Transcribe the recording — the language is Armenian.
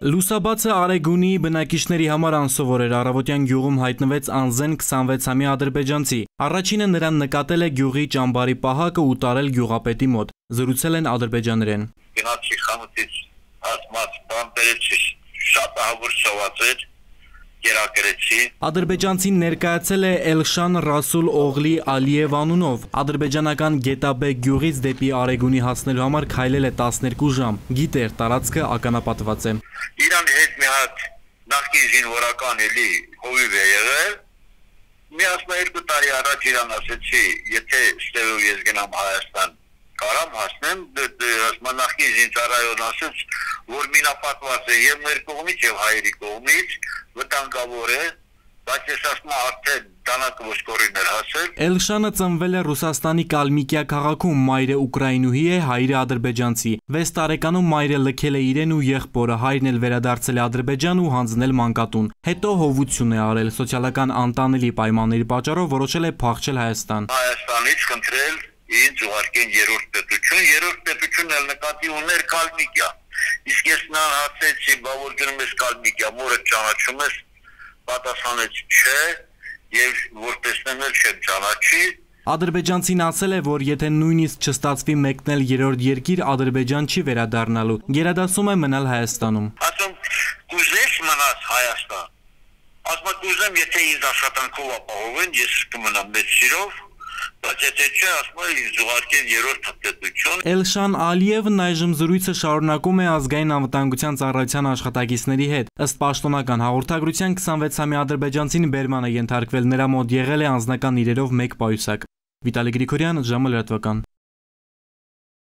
Լուսաբացը Արեգունի բնակիչների համար անսովոր էր, առավոտյան գյուղում հայտնվեց անզեն 26-ամյա ադրբեջանցի։ Առաջինը նրան նկատել է գյուղի ճամբարի պահակը ու տարել գյուղապետի մոտ։ Զրուցել են ադրբեջաներեն։ Գնացի խանութից ասմաց բան բերեցի, շատ ահավոր շովածեց, երակրեցի։ Ադրբեջանցին ներկայացել է Էլշան Ռասուլ Օղլի Ալիև անունով։ Ադրբեջանական Գետաբեկ գյուղից դեպի Արեգունի հասնելու համար քայլել է 12 ժամ։ Գիտեր, տարածքը ականապատված է։ Իրանի հետ մի հատ նախկին զինվորական էլի հովիվ է եղել։ Մի 12 տարի առաջ իրան ասեցի, եթե ստեղով ես գնամ Հայաստան, կարամ հասնեմ, նախկին զինծառայողն ասեց, որ մինապատված է եւ մեր կողմից եւ հայերի կողմից, վտանգավոր է, բայց ես ասում եմ արդեն դանակը ոսկորին էր հասել։ Էլշանը ծնվել է Ռուսաստանի Կալմիկիա քաղաքում, մայրը ուկրաինուհի է, հայրը ադրբեջանցի։ 6 տարեկանում մայրը լքել է իրեն ու եղբորը, հայրն էլ վերադարձել է Ադրբեջան ու հանձնել մանկատուն։ Հետո հովություն է արել, սոցիալական անտանելի պայմանների պատճառով որոշել է փախչել Հայաստան։ Հայաստանից խնդրել ինձ ուղարկեն երրորդ պետությունն էլ նկատի ուներ Կալմիկիա։ Իսկ ես նրան հարցրեցի, բա որ գնում ես Կալմիկիա, մորը ճանաչում ես, պատասխանեց չէ, եւ որ տեսնեմ էլ չեմ ճանաչի։ Ադրբեջանցին ասել է, որ եթե նույնիսկ չստացվի մեկնել երրորդ երկիր, Ադրբեջան չի վերադառնալու։ Գերադասում է մնալ Հայաստանում։ Ասում կուզես մնաս Հայաստան։ Ասում կուզեմ, եթե ինձ աշխատանքով ապահովեն, ես կմնամ մեծ սիրով, բայց եթե չէ, ասում եմ ինձ ուղարկեն երրորդ պետություն։ Էլշան Ալիևն այժմ զրույցը շարունակում է ազգային անվտանգության ծառայության աշխատակիցների հետ։ Ըստ պաշտոնական հաղորդագրության 26-ամյա ադրբեջանցին բերման է ենթարկվել, նրա մոտ եղել է անձնական իրերով 1 պայուսակ։ Վիտալի Գրիգորյան, ժամը լրատվական։